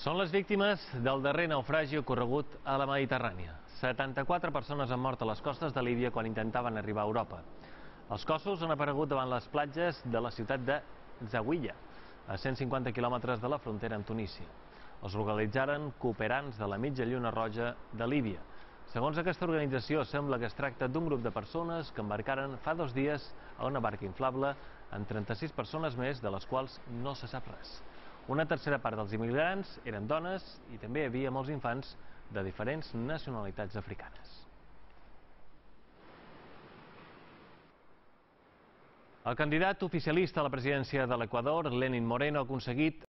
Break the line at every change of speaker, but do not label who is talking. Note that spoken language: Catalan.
Són les víctimes del darrer naufragi ocorregut a la Mediterrània. 74 persones han mort a les costes de Líbia quan intentaven arribar a Europa. Els cossos han aparegut davant les platges de la ciutat de Zawiya, a 150 quilòmetres de la frontera amb Tunísia. Els localitzaren cooperants de la Mitja Lluna Roja de Líbia. Segons aquesta organització, sembla que es tracta d'un grup de persones que embarcaren fa 2 dies a una barca inflable amb 36 persones més, de les quals no se sap res. Una tercera part dels immigrants eren dones i també hi havia molts infants de diferents nacionalitats africanes. El candidat oficialista a la presidència de l'Equador, Lenín Moreno, ha aconseguit